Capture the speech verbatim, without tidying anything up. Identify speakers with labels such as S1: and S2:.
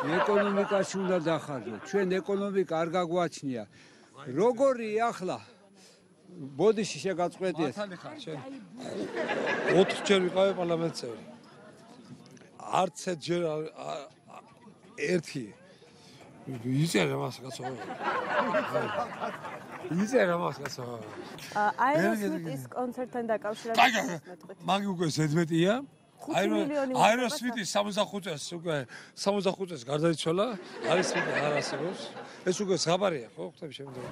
S1: ეკონომიკაში უნდა დახარჯოთ. ჩვენ ეკონომიკა არ გაგვაჩნია. როგორი ახლა ბოდიში შეგაწყვეტიეთ.
S2: მართალი ხარ შენ. ოთხჯერ ვიყავი პარლამენტის წევრი. არც ერთჯერ ერთი იწერა მას კაცო. იწერა მას კაცო.
S3: აეროსმითის კონცერტთან დაკავშირებით
S2: მეტყვით. მაგი უკვე ზედმეტია. აეროსმითის სამოცდახუთ წელს უკვე სამოცდახუთ წელს გარდაიცვალა. არის არა არსებობს. ეს უკვე ზღაპარია ხო? ხვდები შემდგომ.